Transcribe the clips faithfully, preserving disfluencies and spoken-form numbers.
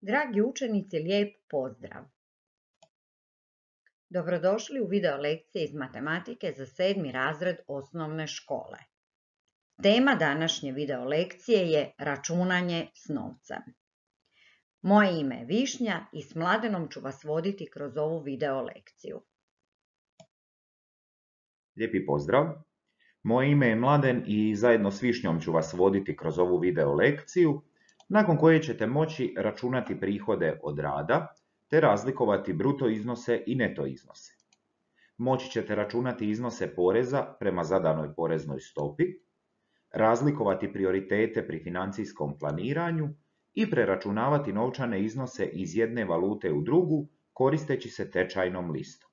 Dragi učenici, lijep pozdrav! Dobrodošli u video lekcije iz matematike za sedmi razred osnovne škole. Tema današnje video lekcije je računanje s novcem. Moje ime je Višnja i s Mladenom ću vas voditi kroz ovu video lekciju. Lijepi pozdrav! Moje ime je Mladen i zajedno s Višnjom ću vas voditi kroz ovu video lekciju, nakon koje ćete moći računati prihode od rada, te razlikovati bruto iznose i neto iznose. Moći ćete računati iznose poreza prema zadanoj poreznoj stopi, razlikovati prioritete pri financijskom planiranju i preračunavati novčane iznose iz jedne valute u drugu koristeći se tečajnom listom.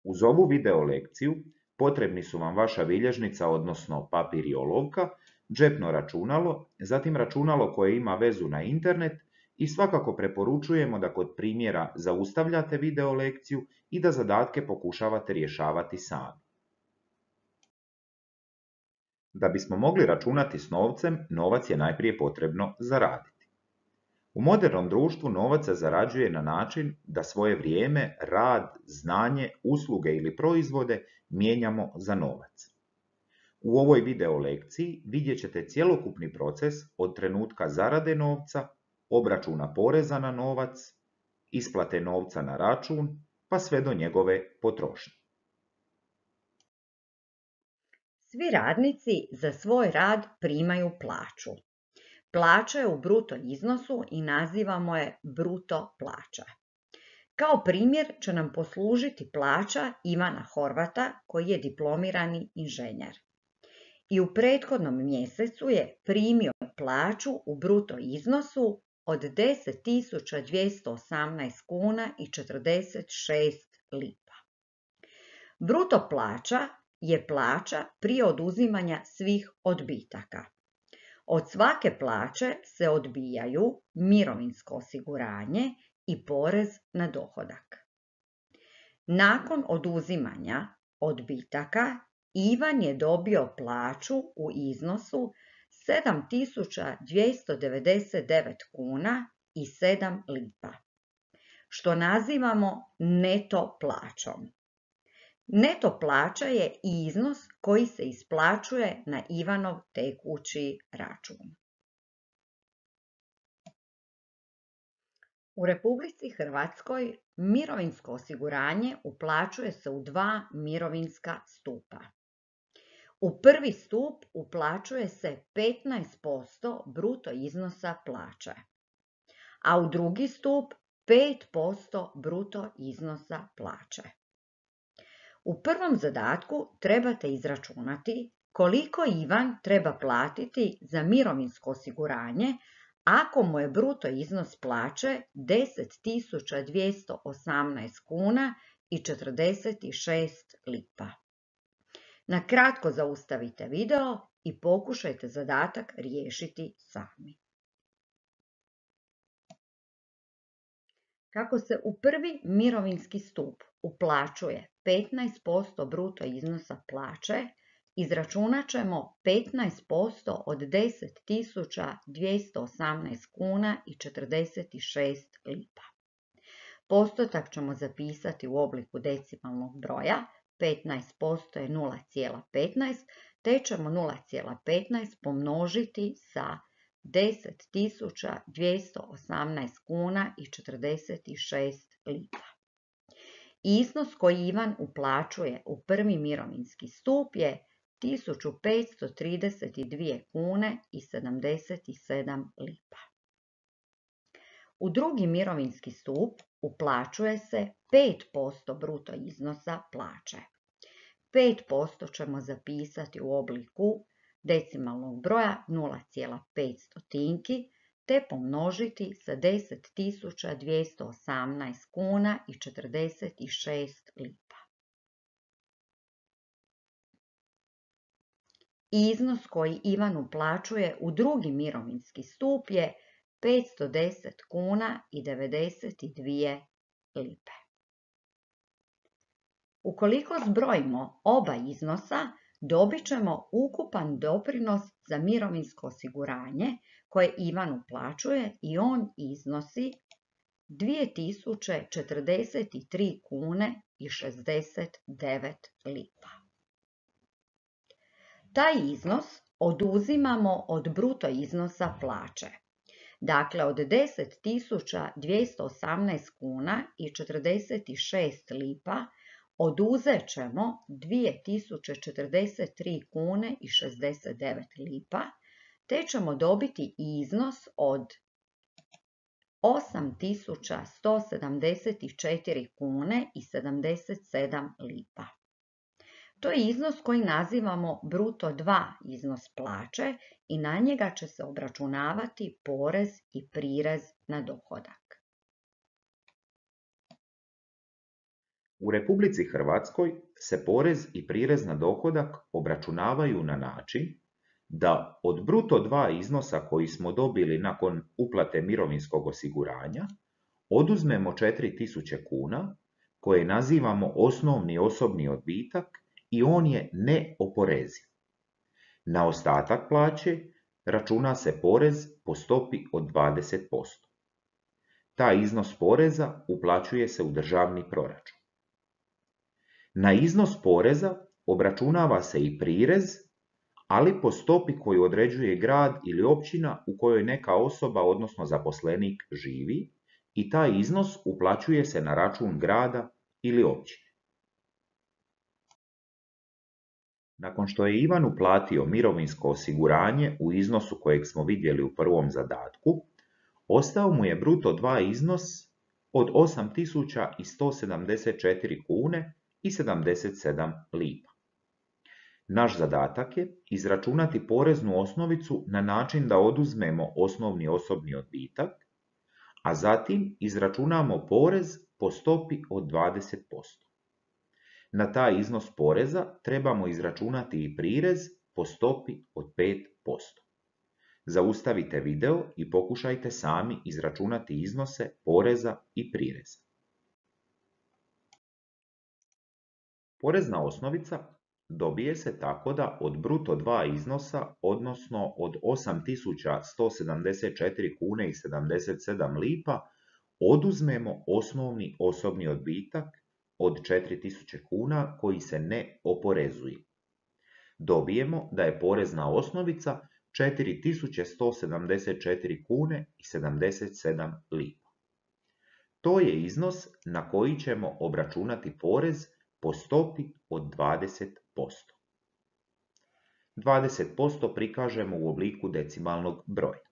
Uz ovu video lekciju potrebni su vam vaša bilježnica, odnosno papir i olovka, džepno računalo, zatim računalo koje ima vezu na internet i svakako preporučujemo da kod primjera zaustavljate video lekciju i da zadatke pokušavate rješavati sami. Da bismo mogli računati s novcem, novac je najprije potrebno zaraditi. U modernom društvu novac se zarađuje na način da svoje vrijeme, rad, znanje, usluge ili proizvode mijenjamo za novac. U ovoj video lekciji vidjet ćete cjelokupni proces od trenutka zarade novca, obračuna poreza na novac, isplate novca na račun, pa sve do njegove potrošnje. Svi radnici za svoj rad primaju plaću. Plaća je u bruto iznosu i nazivamo je bruto plaća. Kao primjer će nam poslužiti plaća Ivana Horvata koji je diplomirani inženjer. I u prethodnom mjesecu je primio plaću u bruto iznosu od deset tisuća dvjesto osamnaest kuna i četrdeset šest lipa. Bruto plaća je plaća prije oduzimanja svih odbitaka. Od svake plaće se odbijaju mirovinsko osiguranje i porez na dohodak. Nakon oduzimanja odbitaka, Ivan je dobio plaću u iznosu sedam tisuća dvjesto devedeset devet kuna i sedam lipa, što nazivamo neto plaćom. Neto plaća je iznos koji se isplaćuje na Ivanov tekući račun. U Republici Hrvatskoj mirovinsko osiguranje uplaćuje se u dva mirovinska stupa. U prvi stup uplaćuje se petnaest posto bruto iznosa plaće, a u drugi stup pet posto bruto iznosa plaće. U prvom zadatku trebate izračunati koliko Ivan treba platiti za mirovinsko osiguranje ako mu je bruto iznos plaće deset tisuća dvjesto osamnaest kuna i četrdeset šest lipa. Na kratko zaustavite video i pokušajte zadatak riješiti sami. Kako se u prvi mirovinski stup uplaćuje petnaest posto bruto iznosa plaće, izračunat ćemo petnaest posto od deset tisuća dvjesto osamnaest kuna i četrdeset šest lipa. Postotak ćemo zapisati u obliku decimalnog broja, petnaest posto je nula zarez petnaest, te ćemo nula zarez petnaest pomnožiti sa deset tisuća dvjesto osamnaest kuna i četrdeset šest lipa. Iznos koji Ivan uplaćuje u prvi mirovinski stup je tisuću petsto trideset dvije kune i sedamdeset sedam lipa. U drugi mirovinski stup uplaćuje se pet posto bruto iznosa plaće. pet posto ćemo zapisati u obliku decimalnog broja nula zarez pet stotinki te pomnožiti sa deset tisuća dvjesto osamnaest kuna i četrdeset šest lipa. Iznos koji Ivan uplaćuje u drugi mirovinski stup je petsto deset kuna i devedeset dvije lipe. Ukoliko zbrojimo oba iznosa, dobit ćemo ukupan doprinos za mirovinsko osiguranje koje Ivan uplaćuje i on iznosi dvije tisuće četrdeset tri kune i šezdeset devet lipa. Taj iznos oduzimamo od bruto iznosa plaće. Dakle, od deset tisuća dvjesto osamnaest kuna i četrdeset šest lipa oduzet ćemo dvije tisuće četrdeset tri kune i šezdeset devet lipa, te ćemo dobiti iznos od osam tisuća sto sedamdeset četiri kune i sedamdeset sedam lipa. To je iznos koji nazivamo bruto dva iznos plaće i na njega će se obračunavati porez i prirez na dohodak. U Republici Hrvatskoj se porez i prirez na dohodak obračunavaju na način da od bruto dva iznosa koji smo dobili nakon uplate mirovinskog osiguranja oduzmemo četiri tisuće kuna koje nazivamo osnovni osobni odbitak i on je neoporeziv. Na ostatak plaće računa se porez po stopi od dvadeset posto. Taj iznos poreza uplaćuje se u državni proračun. Na iznos poreza obračunava se i prirez, ali po stopi koju određuje grad ili općina u kojoj neka osoba, odnosno zaposlenik, živi i taj iznos uplaćuje se na račun grada ili općine. Nakon što je Ivan uplatio mirovinsko osiguranje u iznosu kojeg smo vidjeli u prvom zadatku, ostao mu je bruto dva iznos od osam tisuća sto sedamdeset četiri kune i sedamdeset sedam lipa. Naš zadatak je izračunati poreznu osnovicu na način da oduzmemo osnovni osobni odbitak, a zatim izračunamo porez po stopi od dvadeset posto. Na taj iznos poreza trebamo izračunati i prirez po stopi od pet posto. Zaustavite video i pokušajte sami izračunati iznose poreza i prireza. Porezna osnovica dobije se tako da od bruto dva iznosa, odnosno od osam tisuća sto sedamdeset četiri kune i sedamdeset sedam lipa, oduzmemo osnovni osobni odbitak od četiri tisuće kuna koji se ne oporezuje. Dobijemo da je porezna osnovica četiri tisuće sto sedamdeset četiri kune i sedamdeset sedam lipa. To je iznos na koji ćemo obračunati porez po stopi od dvadeset posto. dvadeset posto prikažemo u obliku decimalnog broja.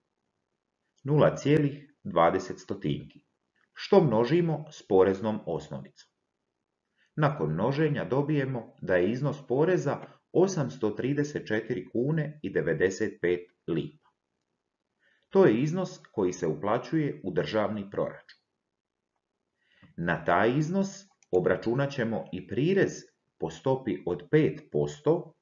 nula zarez dvadeset stotinki, što množimo s poreznom osnovicom. Nakon množenja dobijemo da je iznos poreza osamsto trideset četiri kune i devedeset pet lipa. To je iznos koji se uplaćuje u državni proračun. Na taj iznos obračunat ćemo i prirez po stopi od pet posto,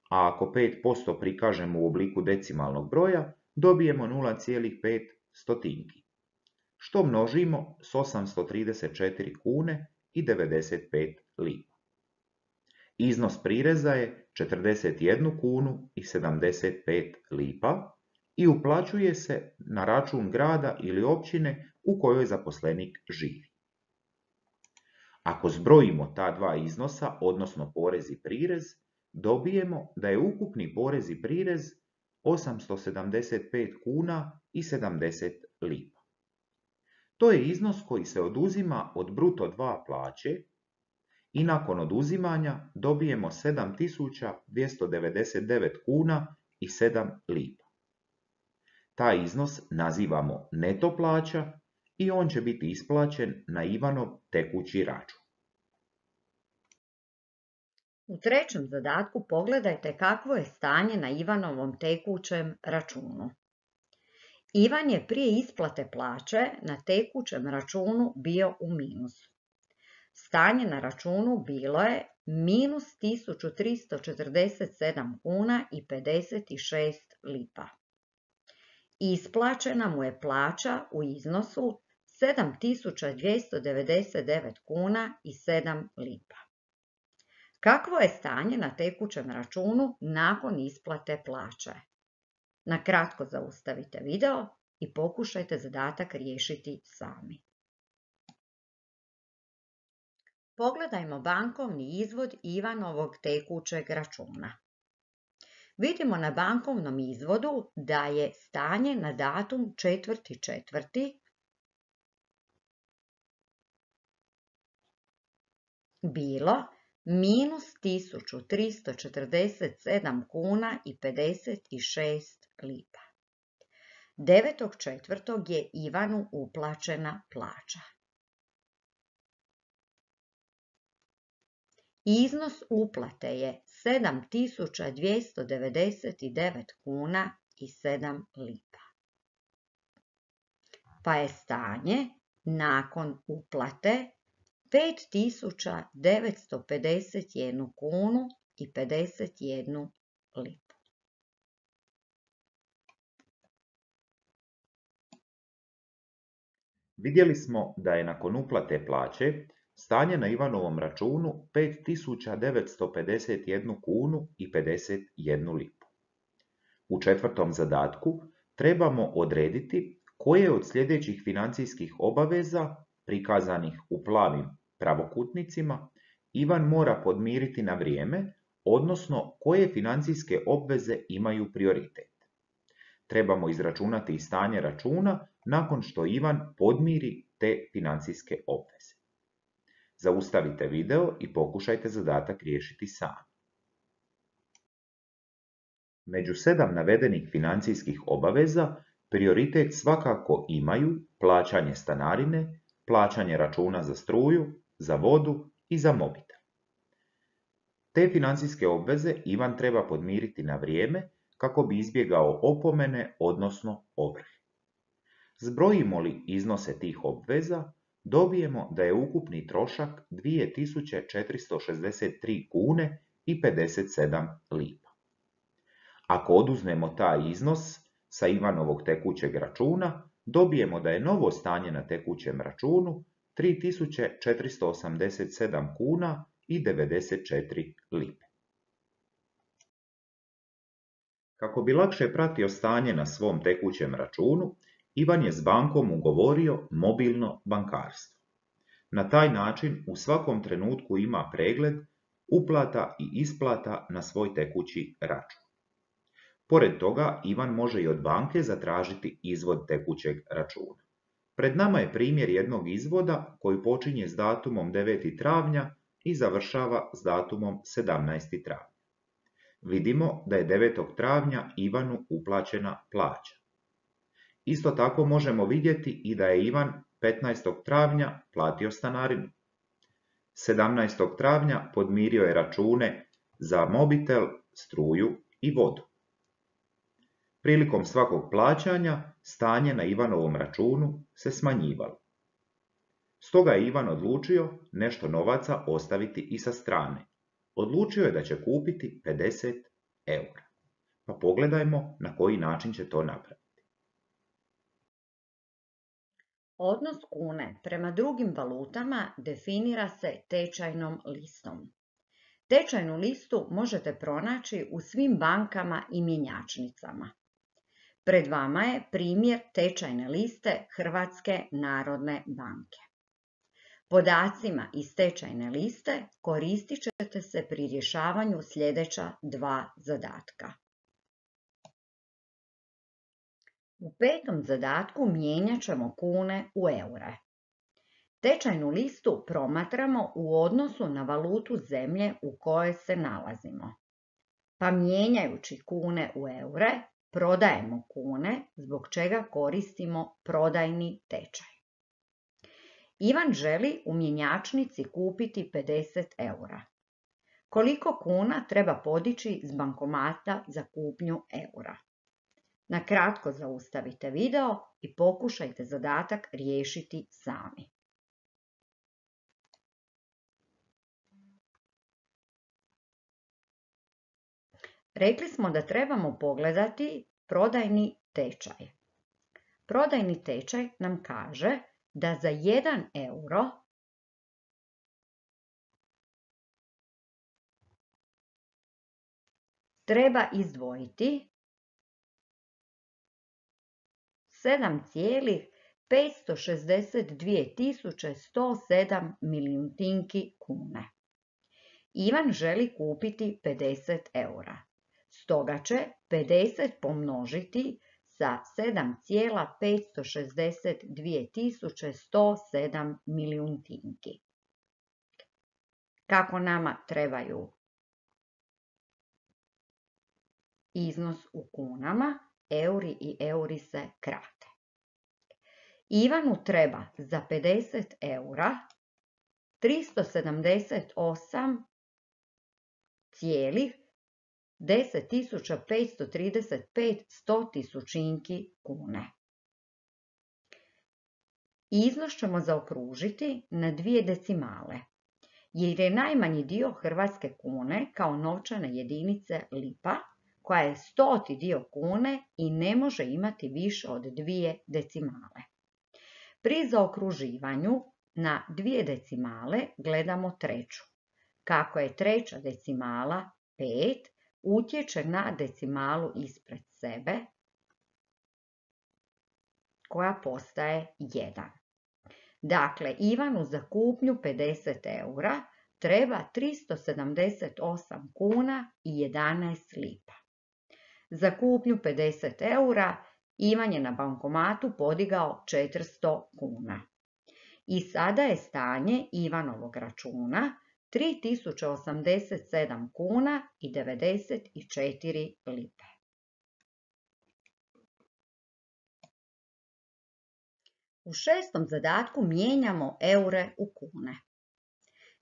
a ako pet posto prikažemo u obliku decimalnog broja, dobijemo nula zarez pet stotinki, što množimo s osamsto trideset četiri kune i devedeset pet lipa. Iznos prireza je četrdeset jednu kunu i sedamdeset pet lipa i uplaćuje se na račun grada ili općine u kojoj zaposlenik živi. Ako zbrojimo ta dva iznosa, odnosno porez i prirez, dobijemo da je ukupni porez i prirez osamsto sedamdeset pet kuna i sedamdeset lipa. To je iznos koji se oduzima od bruto dva plaće i nakon oduzimanja dobijemo sedam tisuća dvjesto devedeset devet kuna i sedam lipa. Taj iznos nazivamo neto plaća i on će biti isplaćen na Ivanov tekući račun. U trećem zadatku pogledajte kakvo je stanje na Ivanovom tekućem računu. Ivan je prije isplate plaće na tekućem računu bio u minusu. Stanje na računu bilo je minus tisuću tristo četrdeset sedam kuna i pedeset šest lipa. Isplaćena mu je plaća u iznosu sedam tisuća dvjesto devedeset devet kuna i sedam lipa. Kakvo je stanje na tekućem računu nakon isplate plaće? Na kratko zaustavite video i pokušajte zadatak riješiti sami. Pogledajmo bankovni izvod Ivanovog tekućeg računa. Vidimo na bankovnom izvodu da je stanje na datum četvrti četvrti bilo minus tisuću tristo četrdeset sedam kuna i pedeset šest lipa. devetog četvrtog je Ivanu uplaćena plaća. Iznos uplate je sedam tisuća dvjesto devedeset devet kuna i sedam lipa. Pa je stanje nakon uplate pet tisuća devetsto pedeset jednu kunu i pedeset jednu lipu. Vidjeli smo da je nakon uplate plaće stanje na Ivanovom računu pet tisuća devetsto pedeset jednu kunu i pedeset jednu lipu. U četvrtom zadatku trebamo odrediti koje od sljedećih financijskih obaveza, prikazanih u plavim pravokutnicima, Ivan mora podmiriti na vrijeme, odnosno koje financijske obveze imaju prioritet. Trebamo izračunati i stanje računa nakon što Ivan podmiri te financijske obveze. Zaustavite video i pokušajte zadatak riješiti sami. Među sedam navedenih financijskih obaveza prioritet svakako imaju plaćanje stanarine, plaćanje računa za struju, za vodu i za mobitel. Te financijske obveze Ivan treba podmiriti na vrijeme kako bi izbjegao opomene, odnosno ovrhe. Zbrojimo li iznose tih obveza, dobijemo da je ukupni trošak dvije tisuće četiristo šezdeset tri kune i pedeset sedam lipa. Ako oduzmemo taj iznos sa Ivanovog tekućeg računa, dobijemo da je novo stanje na tekućem računu tri tisuće četiristo osamdeset sedam kuna i devedeset četiri lipe. Kako bi lakše pratio stanje na svom tekućem računu, Ivan je s bankom ugovorio mobilno bankarstvo. Na taj način u svakom trenutku ima pregled uplata i isplata na svoj tekući račun. Pored toga, Ivan može i od banke zatražiti izvod tekućeg računa. Pred nama je primjer jednog izvoda koji počinje s datumom deveti travnja i završava s datumom sedamnaesti travnja. Vidimo da je devetog travnja Ivanu uplaćena plaća. Isto tako možemo vidjeti i da je Ivan petnaestog travnja platio stanarinu. sedamnaestog travnja podmirio je račune za mobitel, struju i vodu. Prilikom svakog plaćanja stanje na Ivanovom računu se smanjivalo. Stoga je Ivan odlučio nešto novaca ostaviti i sa strane. Odlučio je da će kupiti pedeset eura. Pa pogledajmo na koji način će to napraviti. Odnos kune prema drugim valutama definira se tečajnom listom. Tečajnu listu možete pronaći u svim bankama i mjenjačnicama. Pred vama je primjer tečajne liste Hrvatske narodne banke. Podacima iz tečajne liste koristit ćete se pri rješavanju sljedeća dva zadatka. U petom zadatku mijenjat ćemo kune u eure. Tečajnu listu promatramo u odnosu na valutu zemlje u kojoj se nalazimo. Pa mijenjajući kune u eure, prodajemo kune, zbog čega koristimo prodajni tečaj. Ivan želi u mjenjačnici kupiti pedeset eura. Koliko kuna treba podići s bankomata za kupnju eura? Na kratko zaustavite video i pokušajte zadatak riješiti sami. Rekli smo da trebamo pogledati prodajni tečaj. Prodajni tečaj nam kaže da za jedan euro treba izdvojiti sedam zarez petsto šezdeset dvije tisuće sto sedam milijuntinki kune. Ivan želi kupiti pedeset eura. Stoga će pedeset pomnožiti sa sedam zarez petsto šezdeset dvije tisuće sto sedam milijuntinki. Kako nama trebaju iznos u kunama, euri i euri se krate. Ivanu treba za pedeset eura tristo sedamdeset osam zarez deset tisuća petsto trideset pet stotisućinki kune. Iznos ćemo zaokružiti na dvije decimale, jer je najmanji dio hrvatske kune kao novčane jedinice lipa, koja je stoti dio kune i ne može imati više od dvije decimale. Pri zaokruživanju na dvije decimale gledamo treću. Kako je treća decimala pet, utječe na decimalu ispred sebe, koja postaje jedan. Dakle, Ivanu za kupnju pedeset eura treba tristo sedamdeset osam kuna i jedanaest lipa. Za kupnju pedeset eura Ivan je na bankomatu podigao četiristo kuna. I sada je stanje Ivanovog računa tri tisuće osamdeset sedam kuna i devedeset četiri lipe. U šestom zadatku mijenjamo eure u kune.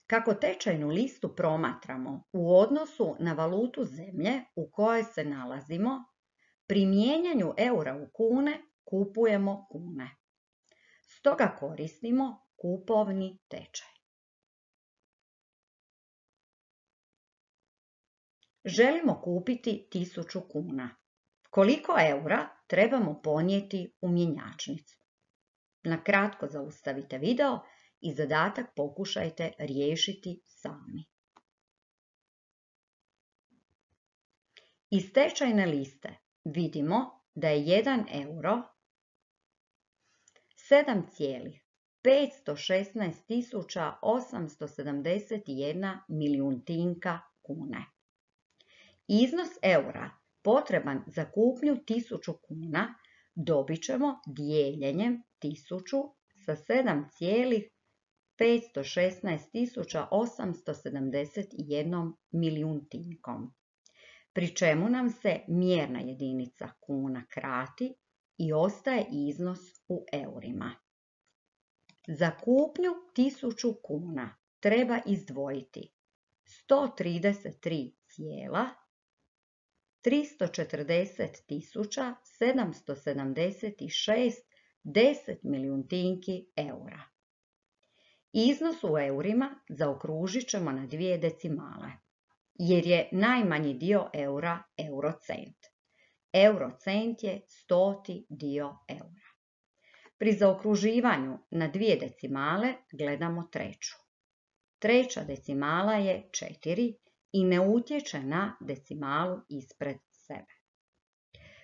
Kako tečajnu listu promatramo u odnosu na valutu zemlje u kojoj se nalazimo, pri mijenjanju eura u kune kupujemo kune. Stoga koristimo kupovni tečaj. Želimo kupiti tisuću kuna. Koliko eura trebamo ponijeti u mjenjačnicu? Na kratko zaustavite video i zadatak pokušajte riješiti sami. Iz tečajne liste vidimo da je jedan euro sedam zarez petsto šesnaest tisuća osamsto sedamdeset jedna milijuntinka kune. Iznos eura potreban za kupnju tisuću kuna dobit ćemo dijeljenjem tisuću sa sedam zarez petsto šesnaest tisuća osamsto sedamdeset jedna milijuntinkom, pri čemu nam se mjerna jedinica kuna krati i ostaje iznos u eurima. Za kupnju tisuću kuna treba izdvojiti sto trideset tri zarez tristo četrdeset tisuća sedamsto sedamdeset šest deset milijuntinki eura. Iznos u eurima zaokružit ćemo na dvije decimale, jer je najmanji dio eura eurocent. Eurocent je stoti dio eura. Pri zaokruživanju na dvije decimale gledamo treću. Treća decimala je četiri i ne utječe na decimalu ispred sebe.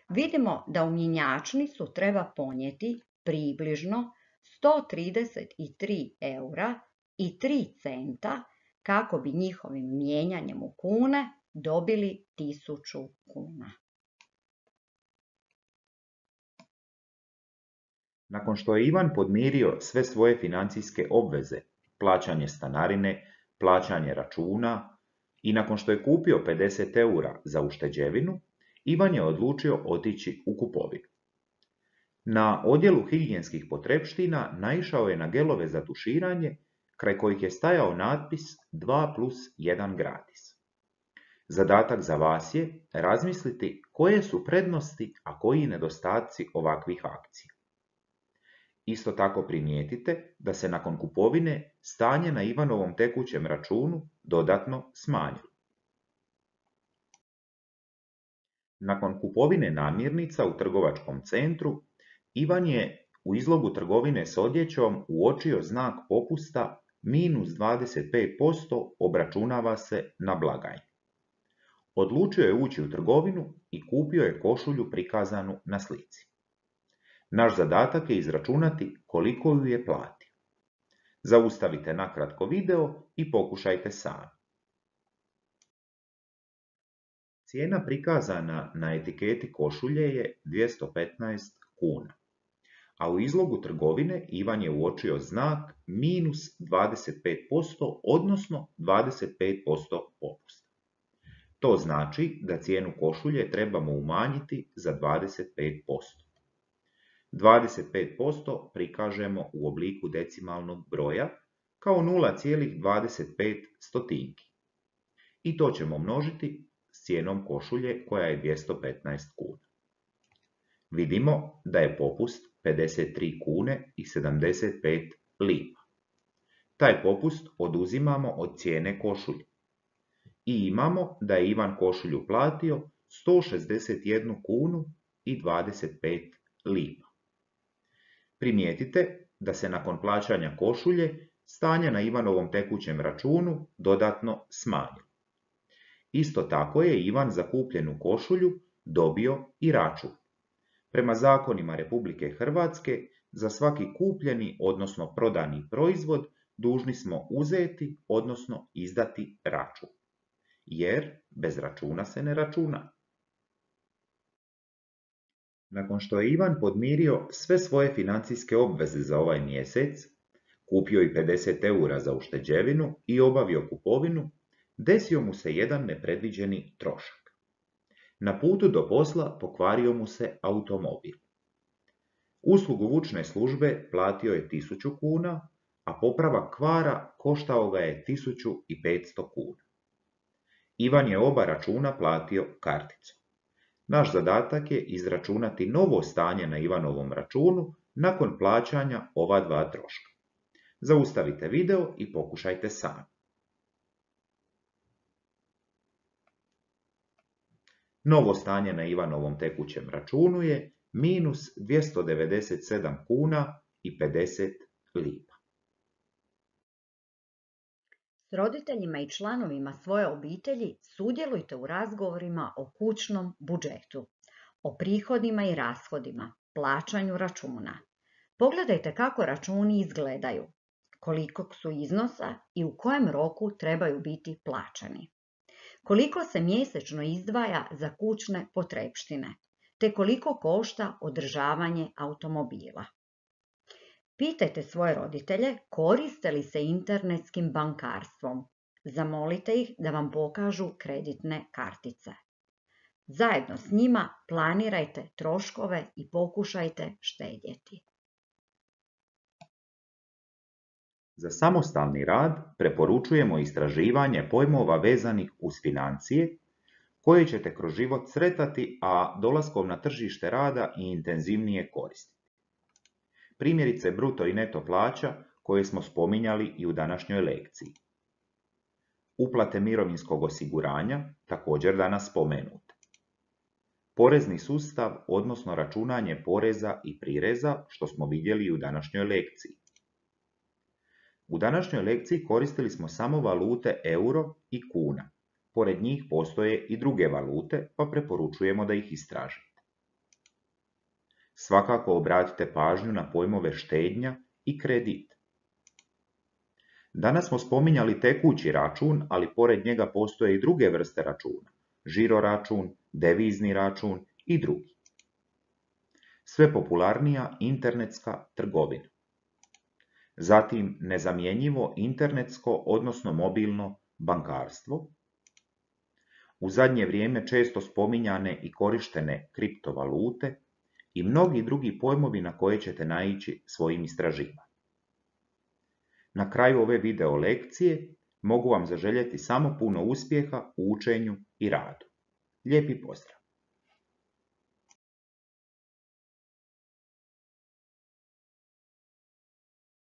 Vidimo da u mjenjačnicu treba ponijeti približno sto trideset tri eura i tri centa kako bi njihovim mijenjanjem u kune dobili tisuću kuna. Nakon što je Ivan podmirio sve svoje financijske obveze, plaćanje stanarine, plaćanje računa i nakon što je kupio pedeset eura za ušteđevinu, Ivan je odlučio otići u kupovinu. Na odjelu higijenskih potrepština naišao je na gelove za tuširanje, kraj kojih je stajao natpis dva plus jedan gratis. Zadatak za vas je razmisliti koje su prednosti, a koji nedostaci ovakvih akcija. Isto tako primijetite da se nakon kupovine stanje na Ivanovom tekućem računu dodatno smanjilo. Nakon kupovine namirnica u trgovačkom centru, Ivan je u izlogu trgovine s odjećom uočio znak popusta minus dvadeset pet posto obračunava se na blagajni. Odlučio je ući u trgovinu i kupio je košulju prikazanu na slici. Naš zadatak je izračunati koliko ju je platio. Zaustavite nakratko video i pokušajte sami. Cijena prikazana na etiketi košulje je dvjesto petnaest kuna, a u izlogu trgovine Ivan je uočio znak minus dvadeset pet posto, odnosno dvadeset pet posto popusta. To znači da cijenu košulje trebamo umanjiti za dvadeset pet posto. dvadeset pet posto prikažemo u obliku decimalnog broja kao nula zarez dvadeset pet stotinki. I to ćemo množiti s cijenom košulje koja je dvjesto petnaest kuna. Vidimo da je popust pedeset tri kune i sedamdeset pet lipa. Taj popust oduzimamo od cijene košulje. I imamo da je Ivan košulju platio sto šezdeset jednu kunu i dvadeset pet lipa. Primijetite da se nakon plaćanja košulje stanje na Ivanovom tekućem računu dodatno smanjilo. Isto tako je Ivan za kupljenu košulju dobio i račun. Prema zakonima Republike Hrvatske, za svaki kupljeni, odnosno prodani proizvod, dužni smo uzeti, odnosno izdati račun. Jer bez računa se ne računa. Nakon što je Ivan podmirio sve svoje financijske obveze za ovaj mjesec, kupio i pedeset eura za ušteđevinu i obavio kupovinu, desio mu se jedan nepredviđeni trošak. Na putu do posla pokvario mu se automobil. Uslugu vučne službe platio je tisuću kuna, a popravak kvara koštao ga je tisuću petsto kuna. Ivan je oba računa platio karticom. Naš zadatak je izračunati novo stanje na Ivanovom računu nakon plaćanja ova dva troška. Zaustavite video i pokušajte sami. Novo stanje na Ivanovom tekućem računu je minus dvjesto devedeset sedam kuna i pedeset lipa. S roditeljima i članovima svoje obitelji sudjelujte u razgovorima o kućnom budžetu, o prihodima i rashodima, plaćanju računa. Pogledajte kako računi izgledaju, kolikog su iznosa i u kojem roku trebaju biti plaćani. Koliko se mjesečno izdvaja za kućne potrepštine, te koliko košta održavanje automobila. Pitajte svoje roditelje koriste li se internetskim bankarstvom. Zamolite ih da vam pokažu kreditne kartice. Zajedno s njima planirajte troškove i pokušajte štedjeti. Za samostalni rad preporučujemo istraživanje pojmova vezanih uz financije, koje ćete kroz život sretati, a dolaskom na tržište rada i intenzivnije koristiti. Primjerice bruto i neto plaća koje smo spominjali i u današnjoj lekciji. Uplate mirovinskog osiguranja, također danas spomenute. Porezni sustav, odnosno računanje poreza i prireza, što smo vidjeli i u današnjoj lekciji. U današnjoj lekciji koristili smo samo valute euro i kuna. Pored njih postoje i druge valute, pa preporučujemo da ih istražite. Svakako obratite pažnju na pojmove štednja i kredit. Danas smo spominjali tekući račun, ali pored njega postoje i druge vrste računa. Žiro račun, devizni račun i drugi. Sve popularnija internetska trgovina. Zatim nezamjenjivo internetsko, odnosno mobilno bankarstvo. U zadnje vrijeme često spominjane i korištene kriptovalute i mnogi drugi pojmovi na koje ćete naići svojim istraživanjem. Na kraju ove video lekcije mogu vam zaželjeti samo puno uspjeha u učenju i radu. Lijepi pozdrav!